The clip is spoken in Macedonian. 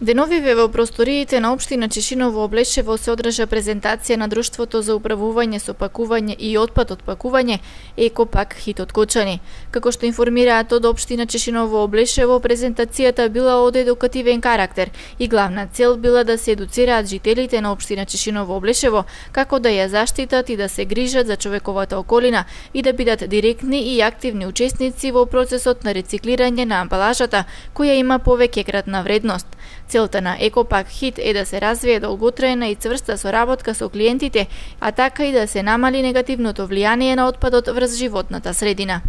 Деновиве во просториите на општина Чешиново Облешево се одржа презентација на Друштвото за управување со пакување и отпад од пакување Екопак Хит од Кочани. Како што информираат од општина Чешиново Облешево, презентацијата била од едукативен карактер и главна цел била да се едуцираат жителите на општина Чешиново Облешево како да ја заштитат и да се грижат за човековата околина и да бидат директни и активни учесници во процесот на рециклирање на амбалажата која има повеќекратна вредност. Целта на Екопак Хит е да се развие долготрајна и цврста соработка со клиентите, а така и да се намали негативното влијание на отпадот врз животната средина.